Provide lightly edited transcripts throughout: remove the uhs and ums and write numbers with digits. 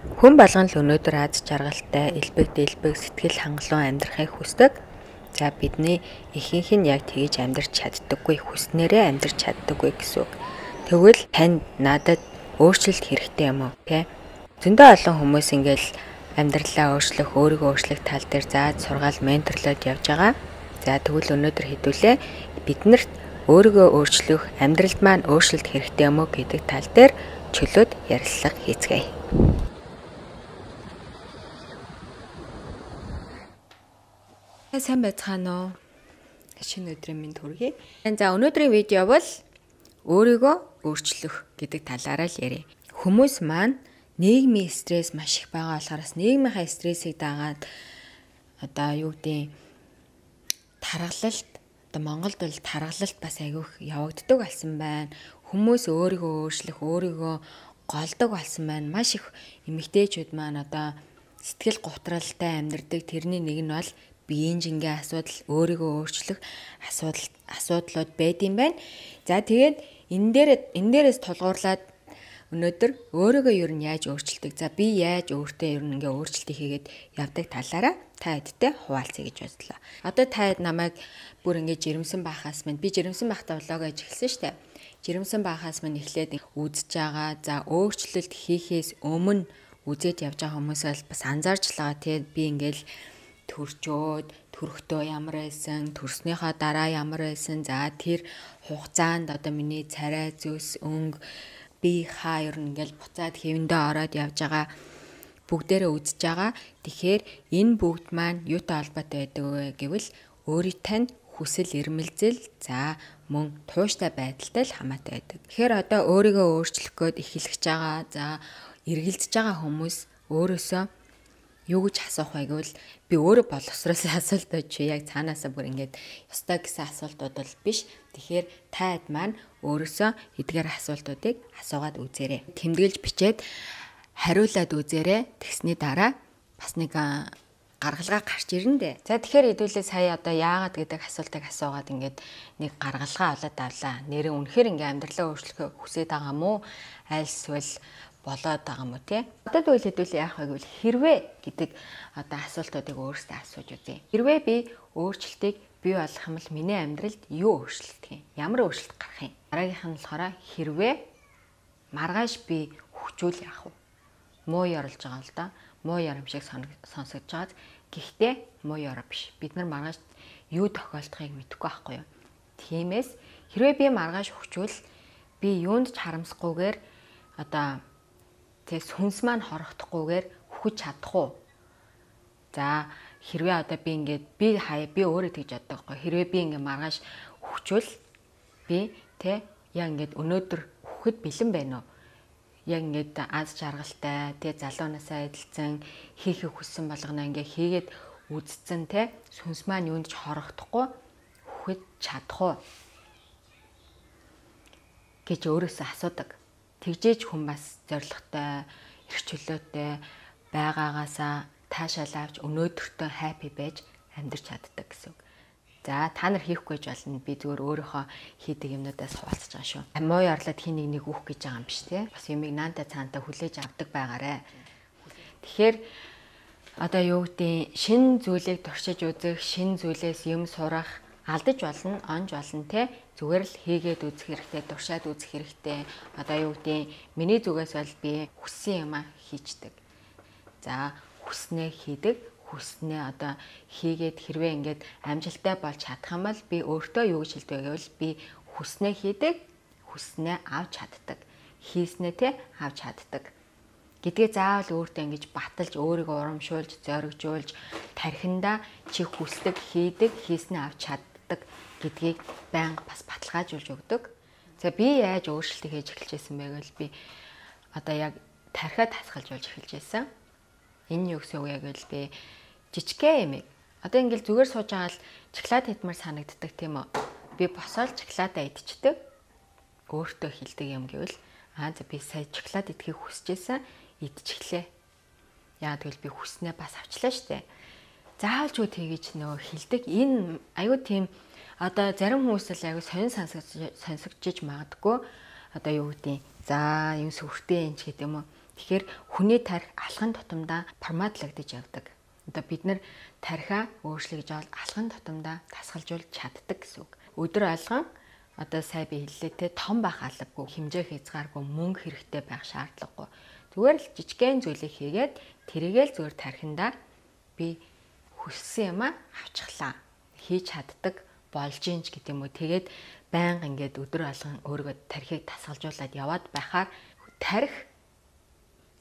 Хүн болгон л өнөөдөр аз жаргалтай, элбэг дэлбэг сэтгэл хангалуун амьдрахыг хүсдэг. За бидний ихэнх нь яг тэгж амьдрч чаддаггүй, хүснээрээ амьдрч чаддаггүй гэсэн үг. Тэгвэл танд надад өөрчлөлт хэрэгтэй юм уу? Тэ? Зөндөө олон хүмүүс ингээл амьдралаа өөрчлөх, өөрийгөө өөрчлөх тал дээр зааж сургаал менторлоод явж байгаа. За тэгвэл өнөөдөр хэдүүлээ биднэрт өөрийгөө өөрчлөх, амьдралд маань өөрчлөлт хэрэгтэй юм уу гэдэг тал дээр чөлөөт ярилцлага хийцгээе. Сайн байцгаана уу? Шинэ өдрийн мэнд хүргэе. За өнөөдрийн видео бол өөрийгөө өөрчлөх гэдэг талаараа л ярив. Хүмүүс маань нийгмийн стресс маш их байгаа болохоос нийгмийнхаа стрессийг дагаад тархалалт Монголд бол тархалалт бас айгүйх явагддаг болсон байна. Хүмүүс өөрийгөө өөрчлөх, өөрийгөө голдог болсон байна. Маш их эмэгтэйчүүд маань сэтгэл гутралтай амьдардаг. Тэрний нэг нь бол биеийн жингээ асуудал, өөрийгөө өөрчлөх асуудлууд байд юм байна. За тэгээд энэ дээрээс тулгуурлаад өнөөдөр өөрийгөө ер нь яаж өөрчилдөг. За би яаж өөртөө ер нь ингээ өөрчлөлтийг хийгээд явдаг талаараа та хэдтэй хуваалцъя гэж бодлоо. Одоо та хэд намайг бүр ингээ жирэмсэн байхаас минь би жирэмсэн байхдаа влог хийж эхэлсэн шүү дээ. Жирэмсэн байхаас минь эхлээд үзэж байгаа. За өөрчлөлт хийхээс өмнө үзээд явж байгаа хүмүүсээс бас анзаарч л байгаа. Тэгээд би ингээл төрчөөд төрөхдөө ямар байсан, төрснийхаа дараа ямар байсан. За тэр хугацаанд миний царай зүс өнгө би хаяр ингээл буцаад хэвэндээ ороод явж байгаа бүгдээрээ үзэж байгаа. Тэгэхээр энэ бүгд маань юутай холбоотой байдаг вэ гэвэл өөрийнхөө хүсэл эрмэлзэл за мөн тууштай байдалтай л хамаатай байдаг. Тэгэхээр өөрийгөө өөрчлөх гээд эхэлж байгаа. За эргэлзэж байгаа хүмүүс өөрөөсөө юу гэж асуух вэ гэвэл би өөрөө боловсроос асуултууд чи яг цаанаасаа бүр ингээд ёстой гэсэн асуултууд бол биш. Тэгэхээр та хэд маань өөрөөсөө эдгээр асуултуудыг асуугаад үзээрэй. Тэмдэглэж бичээд хариулаад үзээрэй. Тэгсний дараа бас нэг гаргалгаа гарч ирнэ дээ. За тэгэхээр хэдүүлээ сая яагаад гэдэг асуултыг асуугаад ингээд нэг гаргалгаа олоод авлаа. Нэрээ үнэхээр ингээд амьдралаа өөрчлөхөө хүсэж байгаа мó? Альсвал болоод байгаа юм уу тий? Одоо тэгвэл хэдүүлээ яах вэ гэвэл хэрвээ гэдэг асуултуудыг өөрөөсөө асууж үзье. Хэрвээ би өөрчлөлтийг бий болгох юм бол миний амьдралд юу өөрчлөлт юм? Ямар өөрчлөлт гарах юм? Дараагийнх нь болохоор хэрвээ маргааш би хүчүүл яах вэ? Муу ярилж байгаа л да. Муу ярим шиг сонсогдож байгаа. Гэхдээ муу ярим биш. Бид нар маргааш юу тохиолдохыг мэдэхгүй байхгүй юу? Тиймээс хэрвээ би маргааш хүчүүл би юунд ч харамсахгүйгээр тэг сүнс маань хорохдохгүйгээр хүч чадах уу? За хэрвээ би ингээд би өөрөө тэгж боддог байхгүй. Хэрвээ би ингээд маргааш хүчвэл би яг ингээд өнөөдөр хүхэд бэлэн байна уу? Яг ингээд аз жаргалтай залуунаасаа эдэлцэн хийхийг хүссэн болгоно ингээд хийгээд үдцэн сүнс маань юунд ч хорохдохгүй хүхэд чадах уу гэж өөрөөсөө асуудаг. Тэгжээж хүн бас зоригтой, эрх чөлөөтэй байгаагаасаа таашаал авч өнөөдөртөө хаппи байж амьдрч чаддаг гэсэн үг. За та нар хийхгүй гэж болно. Би зүгээр өөрийнхөө хийдэг юмнуудаас хуваалцаж байгаа шүү. Муу ярлаад хий нэг үх гэж байгаа юм биш тий. Бас юмыг наантай цаантай хүлээж авдаг байгаарэ. Тэгэхээр юу гэдэг шин зүйлийг туршиж үзэх, шин зүйлээс юм сурах алдаж болно, онж болно тий. Зүгээр л хийгээд үзэх хэрэгтэй, туршаад үзэх хэрэгтэй. Юу гэдэг миний зүгээс бол би хүссэн юм хийчдэг. За хүснээ хийдэг, хүснээ хийгээд хэрвээ ингээд амжилттай болж чадах юм бол би өөртөө юу гэж хэлдэг гэвэл би хүснээ хийдэг, хүснээ авч чаддаг. Хийснээ авч чаддаг. Гэдгээ заавал өөртөө ингэж баталж, өөрийгөө урамшуулж, зоригжуулж, тархиндаа чи хүсдэг, хийдэг, хийснээ авч чаддаг гэдгийг байнга бас баталгаажуулж өгдөг. За би яаж өөрчлөлтийг хийж эхэлжсэн бэ гэвэл би яг тархиад хасгалжуулж эхэлжсэн. Энэ юу гэсэн үг яг л би жижигхэн юм. Ингээл зүгээр сууж байгаа л шоколад идмээр санагддаг тийм үү? Би босоод шоколадаа идчихдэг. Өөртөө хэлдэг юм гэвэл би сая шоколад идэхийг хүсэжсэн, идчихлээ. Яагаад гэвэл би хүснээ бас авчлаа штэ. Заавалж юу тэгэж хэлдэг. Энэ аюу тийм зарим хүмүүс л аюу сонин сонсогдож магадгүй. Юу гэдэг за юм сүртэй юм ч гэдэг юм уу. Тэгэхээр хүний тарих алхам тутамдаа форматлагдаж явдаг. Одоо бид нар тарихаа өөрчлөж авал алхам тутамдаа тасгалжуулж чаддаг гэсэн үг. Өдөр алган одоо сая би хэллээ те том байх албагүй, хэмжээ хязгааргүй, мөнгө хэрэгтэй байх шаардлагагүй. Зүгээр л жижигхэн зүйлийг хийгээд тэрийгэл зүгээр тархиндаа би хүссэн юм авчихлаа. Хийж чаддаг болж ийн ч гэдэг юм уу. Тэгээд байнга ингээд өдөр алган өөрийгөө тархийг тасгалжуулаад яваад байхаар тарих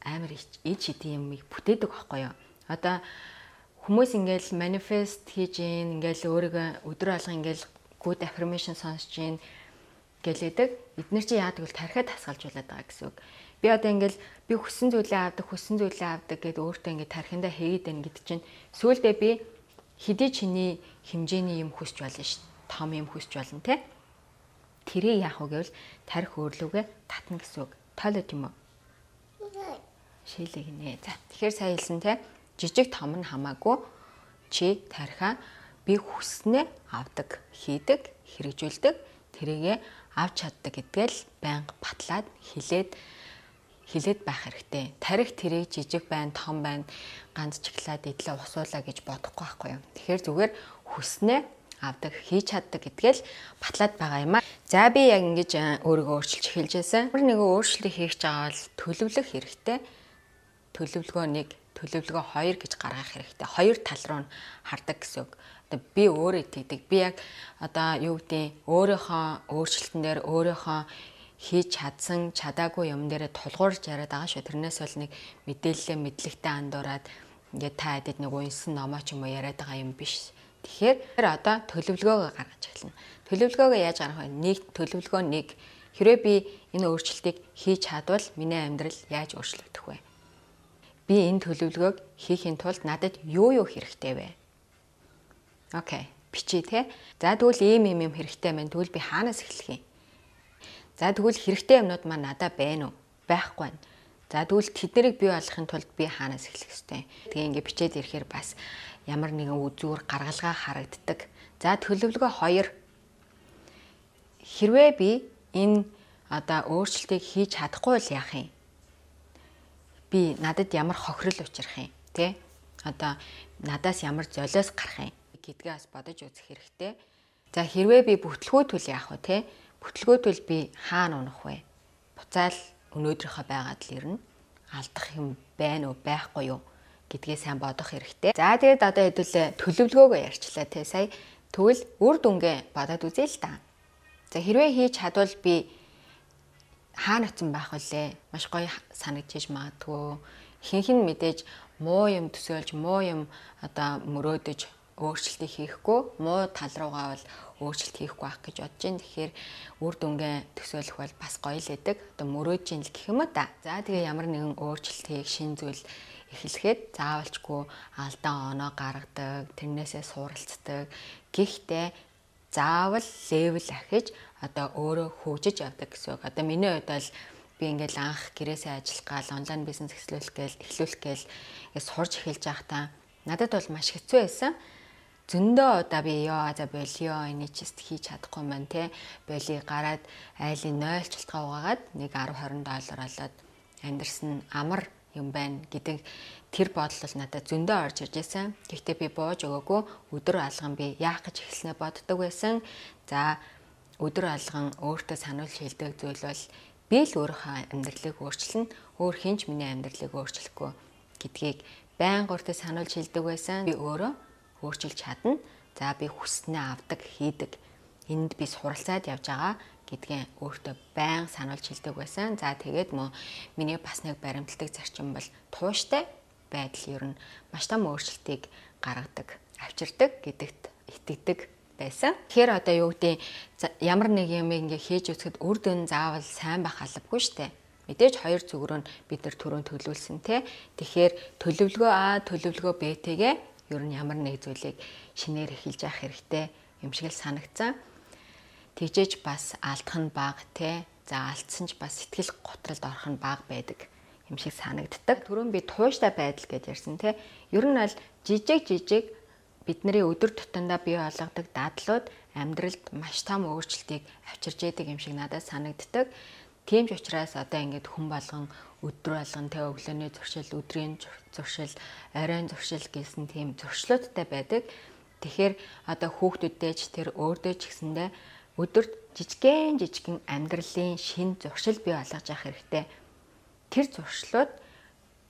амар ич хэдийн юмыг бүтээдэг байхгүй юу. Одоо хүмүүс ингээл манифест хийж ийн, ингээл өөрийгөө өдөр алган ингээл good affirmation сонсож ийн гэлээдэг. Эдгээр чи яадаг вэ? Тархиа тасгалжуулаад байгаа гэсэн үг. Би одоо ингээл би хүссэн зүйлээ авдаг гэдээ өөртөө ингээд тархиндаа хийгээд байна гэдэг чинь сүүлдээ би хэдий чиний хэмжээний юм хүсч болно ш. Том юм хүсч болно те. Тэрийг яах вэ гэвэл тарих өөрлөгөө татна гэсэн үг. Тойлоо тийм үү? Шилэг нэ. За тэгэхээр сайн хэлсэн те. Жижиг том нь хамаагүй чи тарихаа би хүснээ авдаг, хийдэг, хэрэгжүүлдэг, тэрийгэ авч чаддаг гэдгээл байнга батлаад хилээд байх хэрэгтэй. Тарих тэрийг жижиг байна, том байна, ганц чиглаад идлээ усуулаа гэж бодохгүй байхгүй юу. Тэгэхээр зүгээр хүснээ авдаг, хийж чаддаг гэдгээл батлаад байгаа юм аа. За би яг ингэж өөрийгөө өөрчилж эхэлж байсан. Нэг өөрчлөлт хийх гэж байгаа бол төлөвлөх хэрэгтэй. Төлөвлөгөө 1, төлөвлөгөө 2 гэж гаргах хэрэгтэй. Хоёр тал руу нь хардаг гэсэн үг. Одоо би өөрөө итгэдэг. Би яг одоо юу гэдэг өөрийнхөө өөрчлөлтөн дээр өөрийнхөө хийж чадсан, чадаагүй юм дээр тулгуурж яриад байгаа шүү. Тэрнээс бол нэг мэдээлэлээ мэдлэгтэй андуураад ингээд та хэдэд нэг унсан номоо ч юм уу яриад байгаа юм биш. Тэгэхээр одоо төлөвлөгөөгөө гаргаж эхэлнэ. Төлөвлөгөөгөө яаж гаргах вэ? Төлөвлөгөө 1. Хэрвээ би энэ өөрчлөлтийг хийж чадвал миний амьдрал яаж өөрчлөгдөх вэ? Би энэ төлөвлөгөөг хийхин тулд надад юу хэрэгтэй вэ? Окей, бичээ те. За тэгвэл ийм юм хэрэгтэй байна. Тэгвэл би хаанаас эхлэх юм? За тэгвэл хэрэгтэй юмнууд маань надад байна уу? Байхгүй байна. За тэгвэл тэднийг бий болгохын тулд би хаанаас эхлэх ёстой? Тэгээ ингээ бичээд ирэхээр бас ямар нэгэн үзүүр гаргалгаа харагддаг. За төлөвлөгөө 2. Хэрвээ би энэ одоо өөрчлөлтийг хийж чадахгүй бол яах юм? Би надад ямар хохирол учрах юм? Тэ? Одоо надаас ямар золиос гарах юм? Гэдгээ бас бодож үзэх хэрэгтэй. За хэрвээ би бүтлгүүтвэл яах вэ? Тэ? Бүтлгүүтвэл би хаана унах вэ? Буцаал өнөөдрийнхөө байгаад л ирнэ. Алдах юм байна уу, байхгүй юу гэдгээ сайн бодох хэрэгтэй. За тэгээд одоо хэдүүлээ төлөвлөгөөгөө ярьчлаа те сая. Тэгвэл үр дүнгээ бодоод үзье л та. За хэрвээ хийж чадвал би хаана очсон байх вүлээ? Маш гоё санагдчих магадгүй. Хинхэн мэдээж муу юм төсөөлж, муу юм одоо мөрөөдөж өөрчлөлтийг хийхгүй, муу тал руугаа бол өөрчлөлт хийхгүй байх гэж бодож байна. Тэгэхээр үр дүнгээ төсөөлөх бол бас гоё л байдаг. Одоо мөрөөж ийн л гэх юм уу та. За тэгээ ямар нэгэн өөрчлөлтийг шин зүйл эхлэхэд заавалчгүй алдаа оноо гаргадаг, тэрнээсээ суралцдаг. Гэхдээ заавал левел ахиж одоо өөрөө хөгжиж явдаг гэсэн үг. Одоо миний хувьд бол би ингээл анх гэрээсээ ажиллах гал онлайн бизнес эхлүүлэх гээл сурж эхэлж байхдаа надад бол маш хэцүү байсан. Зөндөө удаа би за болио энийг ч хийж чадахгүй маань те болиг гараад айлын 0 чилтгаа угаагаад нэг 10-20 доллар олоод амьдрсан амар юм байна гэдэг тэр бодол надад зөндөө орж ирж байсан. Гэхдээ би бууж өгөөгүй өдөр алган би яах гэж эхэлснээ боддог байсан. За өдөр алган өөртөө сануулж хэлдэг зүйл бол би л өөрийнхөө амьдралыг өөрчилнө. Өөр хинч миний амьдралыг өөрчлөхгүй гэдгийг байнга өөртөө сануулж хэлдэг байсан. Би өөрөө өөрчилж чадна. За би хүснээ авдаг, хийдэг. Энд би суралцаад явж байгаа гэдгээ өөртөө байнга сануулж хэлдэг байсан. За тэгээд миний бас нэг баримтлагдаг зарчим бол тууштай байдал ер нь маш том өөрчлөлтийг гаргадаг, авчирдаг гэдэгт итгэдэг байсан. Тэгэхээр одоо юу гэдэг ямар нэг юм ингээ хийж үзэхэд үр дүн заавал сайн байх албагүй штэ. Мэдээж хоёр зүг рүү бид нар түрүүн төлөвлөсөн те. Тэгэхээр төлөвлөгөө А, төлөвлөгөө Б-тэйгээ ер нь ямар нэг зүйлийг шинээр эхэлж явах хэрэгтэй юм шиг л санагцсан. Тэгжээж бас алдах нь бага те. За алдсан ч бас сэтгэл готролд орох нь бага байдаг юм шиг санагддаг. Түрүүн би тууштай байдал гэж ярьсан те. Ер нь аль жижиг бидний өдөр тутамдаа бий болгодог дадлууд амьдралд маш том өөрчлөлтийг авчирж яадаг юм шиг надад санагддаг. Тийм ч учраас одоо ингээд хүн болгон өдөр болгон тэ өглөөний зуршил, өдрийн зуршил, оройн зуршил гэсэн тийм зуршлуудтай байдаг. Тэгэхээр одоо хүүхдүүдтэй ч тэр өөртөө ч гэсэндээ өдөрт жижигэн амьдралын шин зуршил бий болгож явах хэрэгтэй. Тэр зуршлууд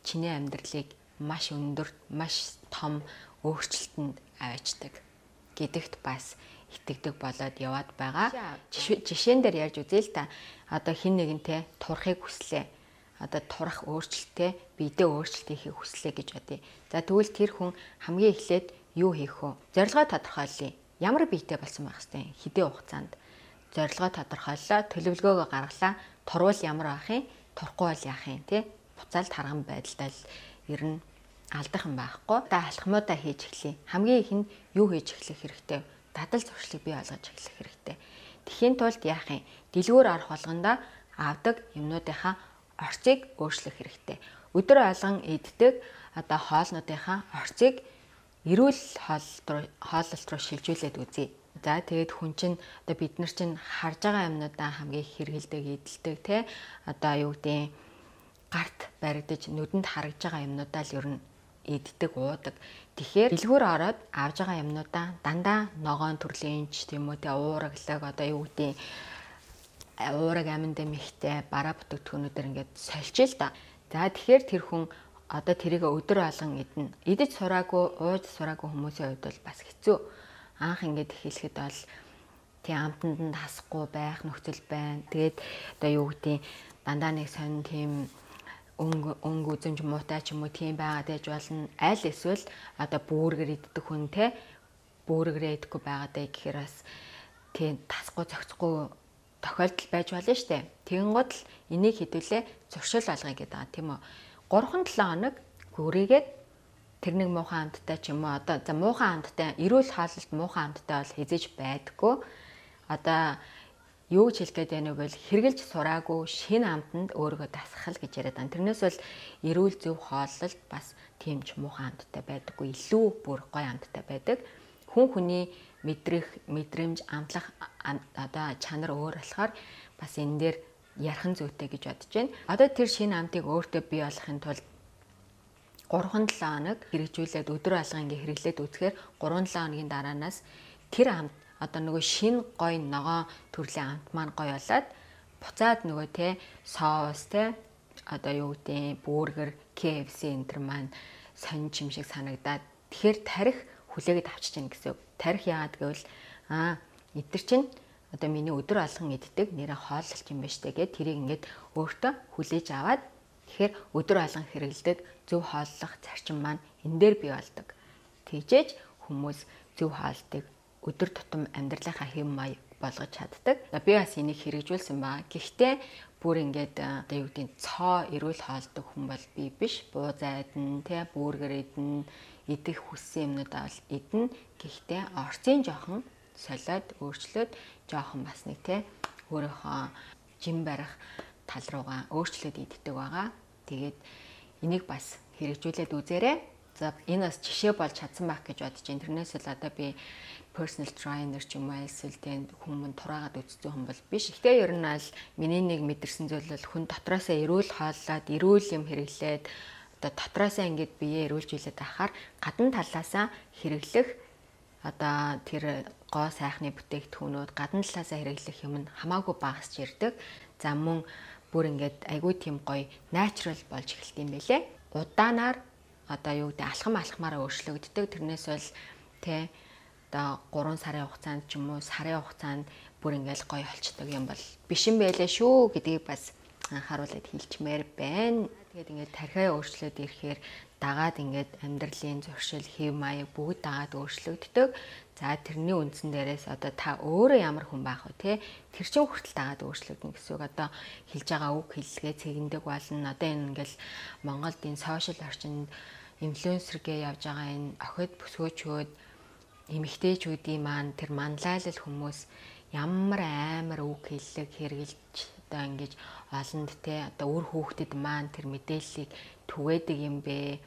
чиний амьдралыг маш өндөр, маш том өөрчлөлтөнд аваачдаг гэдэгт бас итгэдэг болоод яваад байгаа. Жишээн дээр ярьж үзье л та. Одоо хин нэгэнтэй турахыг хүслээ. Одоо турах өөрчлөлттэй биедээ өөрчлөлт хийхийг хүслээ гэж бодъё. За тэгвэл тэр хүн хамгийн эхлээд юу хийх вэ? Зорилгоо тодорхойлъё. Ямар биетэй болсон байх хэвтэй? Хэдийн хугацаанд? Зорилгоо тодорхойллоо, төлөвлөгөөгөө гаргалаа. Турвал ямар байх юм? Турахгүй бол яах юм те? Буцаалт харган байдалтай л ер нь алдах юм байхгүй. Та алхмуудаа хийж эхлэе. Хамгийн ихэнд юу хийж эхлэх хэрэгтэй? Дадал зуршлыг бий болгож эхлэх хэрэгтэй. Тэхийн тулд яах юм? Дэлгүүр арах болгонда авдаг юмнуудынхаа орцыг өөрчлөх хэрэгтэй. Өдөр болгон иддэг одоо хоолнуудынхаа орцыг эрүүл хооллолт руу шилжүүлээд үзье. За тэгээд хүн чинь одоо бид нар чинь харж байгаа юмнуудаа хамгийн их хэрэгэлдэг, эдэлдэг те. Одоо юу гэдэг гарт баригдаж нүдэнд харагдж байгаа юмнуудаа л ер нь иддэг, уудаг. Тэгэхээр дэлгүүр ороод авж байгаа юмнуудаа дандаа ногоон төрлийн ч тийм үү те уураглаг одоо юу гэдэг уураг аминд эмхтэй бараа бүтээгдэхүүнүүдээр ингээд сольж л да. За тэгэхээр тэр хүн одоо тэрийг өдөр болгон идэнэ. Идэж сураагүй, ууж сураагүй хүмүүсийн хувьд бол бас хэцүү. Анх ингээд эхлэхэд бол тий амтанд нь хасахгүй байх нөхцөл байна. Тэгээд одоо юу гэдэг дандаа нэг сонин тийм өнгө үзэмж муутай ч юм уу тийм байгаад байж болно. Аль эсвэл одоо бүүргэр иддэг хүн те бүүргэрээ идэхгүй байгаадаа гэхээр бас тийм тасахгүй зохицохгүй тохиолдол байж болно штэ. Тэгэнгუთ л энийг хэдүүлээ зуршил болгоё гэдэг байгаа тийм үү. 3-7 хоног гүрийгээд тэр нэг муухан амттай ч юм уу одоо за муухан амттай эрүүл хаалт муухан амттай бол хизээж байдаггүй. Одоо юу гэж хэлэх гээд байна вэ гэвэл хэрглэж сураагүй шинэ амтанд өөрийгөө дасгах гэж яриад байна. Тэрнээс бол эрүүл зөв хооллолт бас тийм ч муухан амттай байдаггүй. Илүү бүр гоё амттай байдаг. Хүн хүний мэдрэмж амтлах одоо чанар өөр болохоор бас энэ дээр ярхан зүйтэй гэж бодож байна. Одоо тэр шинэ амтыг өөртөө бий болгохын тулд 3-7 хоног хэрэгжүүлээд өдөр алга ингээ хэрэглээд үзэхээр 3-7 хоногийн дараанаас тэр амт одоо нөгөө шинэ гой ногоон төрлийн амт маань гой болоод буцаад нөгөө те соус те одоо юу гэдэг бүүргэр KFC энэ төр маань сонин юм шиг санагдаад тэгэхээр тарих хүлээгээд авчиж гин гэсэн. Тарих яагаад гэвэл эдгэр чинь одоо миний өдөр алган иддэг нэрэ хооллолт юм байна штэ гэд тэрийг ингээд өөртөө хүлээж аваад тэгэхээр өдөр алган хэрэгэлдэг зөв хооллох зарчим маань энэ дээр бий болдог. Тэгжээж хүмүүс зөв хоолтыг өдөр тутам амьдралынхаа хэв маяг болгож чаддаг. Би бас энийг хэрэгжүүлсэн баа. Гэхдээ бүр ингээд одоо юу гэдэг цоо эрүүл хоолдог хүн бол би биш. Буу зайдан тэ бүүргэр идэн идэх хүссэн юмнуудаа бол идэн. Гэхдээ орцын жоохон солиод өөрчлөөд жоохон бас нэг тэ өөрийнхөө жим барих тал руугаа өөрчлөөд иддэг байгаа. Тэгээд энийг бас хэрэгжүүлээд үзээрэй. За энэ бас жишээ болж чадсан байх гэж бодож байна. Тэрнээс л одоо би personal trainer ч юм уу эсвэл тэнд хүмүүс тураагаад үзсэн хүн бол биш. Гэхдээ ер нь аль миний нэг мэдэрсэн зүйл бол хүн дотроосоо эрүүл хооллоод эрүүл юм хэрэглээд одоо дотроосоо ингээд биеэ эрүүлжүүлээд ахаар гадна талаасаа хэрэглэх одоо тэр гоо сайхны бүтээгдэхүүнүүд гадна талаасаа хэрэглэх юм нь хамаагүй багасч ирдэг. За мөн бүр ингээд айгүй тийм гоё natural болж эхэлт юм байлээ. Удаанаар одоо юу гэдэг алхамаараа өөрчлөгддөг. Тэрнээс бол тэ одоо 3 сарын хугацаанд ч юм уу сарын хугацаанд бүр ингээл гоё болчдөг юм бол биш юм байлээ шүү гэдгийг бас анхааруулад хэлчмээр байна. Тэгээд ингээд тархиа өөрчлөөд ирэхээр дагаад ингээд амьдралын зуршил, хэв маяг бүгд дагаад өөрчлөгддөг. За тэрний үндсэн дээрээс одоо та өөрөө ямар хүн байх вэ те? Тэр чин хүртэл дагаад өөрчлөгдөн гэсэн үг. Одоо хэлж байгаа үг хэллэгээ цэгэндэг болно. Одоо энэ ингээл Монголд энэ сошиал орчинд инфлюенсергээ явж байгаа энэ охид бүсгөөчүүд эмэгтэйчүүдийн маань тэр манлайлал хүмүүс ямар амар үг хэллэг хэрэгжилж одоо ингэж олонд те одоо үр хүүхдэд маань тэр мэдээллийг түгээдэг юм бэ?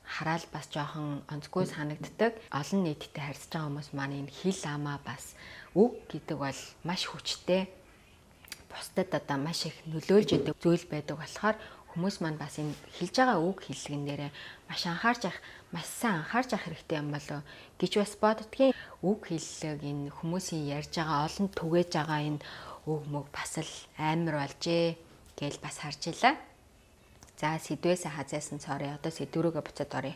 Хараал бас жоохон онцгүй санагддаг. Олон нийттэй харьцаж байгаа хүмүүс маань энэ хэл амаа бас үг гэдэг бол маш хүчтэй. Бусдад одоо маш их нөлөөлж идэг зүйл байдаг болохоор хүмүүс маань бас энэ хэлж байгаа үг хэллэгэн дээрээ маш сайн анхаарч явах хэрэгтэй юм болов гэж бас боддгийн. Үг хэллэг энэ хүмүүсийн ярьж байгаа олон түгээж байгаа энэ үг мөг бас л амар болжээ гэж бас харж илаа. За сэдвээсээ хазаасан цорё. Одоо сэдврүүгээ буцаад оръё.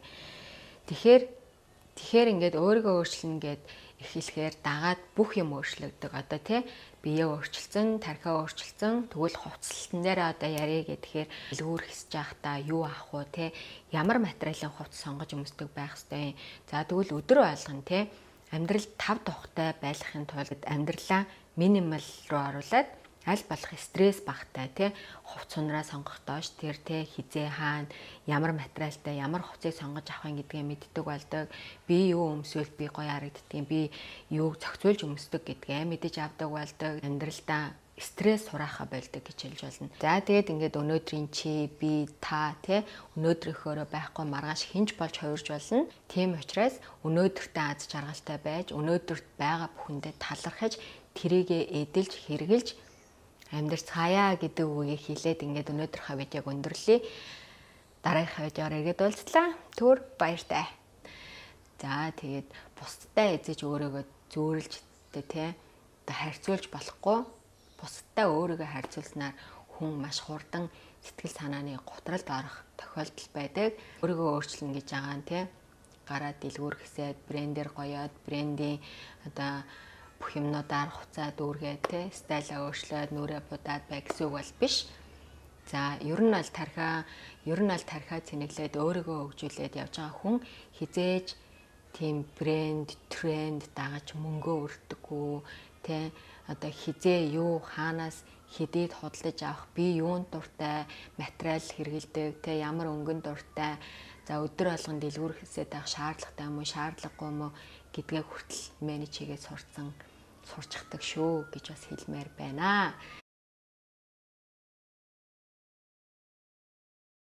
Тэгэхээр ингээд өөрийгөө өөрчлөнө гэд эхлэхээр дагаад бүх юм өөрчлөгдөг. Одоо тий биеэ өөрчилсөн, тархиа өөрчилсөн, тэгвэл хувцлалтан дээр одоо ярих гэхээр дэлгүүр хэсэж явахдаа юу авах вэ тий ямар материалын хувцас сонгож өмсдөг байх ёстой. За тэгвэл өдөр болгон тий амьдрал тав тухтай байлгахын тулд амьдралаа минимал руу оруулаад аль болох стресс багтай тий хувц сунраа сонгох доош тэр тий хизээ хаана ямар материалтай ямар хувцыг сонгож авах гэдгээ мэддэг болдог. Би юу өмсвөл би гоё харагддгийг, би юуг зохицуулж өмсдөг гэдгээ мэдэж авдаг болдог. Амьдралдаа стресс хураахаа болдог гэж хэлж болно. За тэгээд ингээд өнөөдрийн чи би та тий өнөөдрийнхөөрөө байхгүй маргааш хинж болж хувирж болно. Тийм учраас өнөөдөртөө аз жаргалтай байж өнөөдөрт байгаа бүхэндээ талархаж тэрийгэ эдэлж хэрглэж амьдрцгаая гэдэг үгийг хэлээд ингээд өнөөдрийнхөө видеог өндөрлөе. Дараагийнхаа видеоор иргэд уулзлаа. Түр баяртай. За тэгээд бусдтай эзэж өөрийгөө зөөрлж тий одоо харьцуулж болохгүй. Бусдтай өөрийгөө харьцуулснаар хүн маш хурдан сэтгэл санааны гутралд орох тохиолдол байдаг. Өөрийгөө өөрчлөнө гэж байгаа нь тий гараа дэлгүүр хэсээд брендээр гоёод брендийн одоо бүх юмнуудаар хуцаад дүүргээд те стайлаа өөрчлөөд нүрээ будаад бай гэсэн үг бол биш. За ер нь аль тархиа цэнэглээд өөрийгөө хөгжүүлээд явж байгаа хүн хизээж тийм брэнд, тренд дагаж мөнгөө өртөггүй те одоо хизээ юу хаанаас хэдийд худалдаж авах, би юунд дуртай, материал хэрэгэлдэг те ямар өнгөнд дуртай. За өдөр болгон дэлгүүр хэсээд авах шаардлагатай юм уу, шаардлагагүй юм уу гэдгээ хүртэл менеж хийгээд сурчдаг шүү гэж бас хэлмээр байна.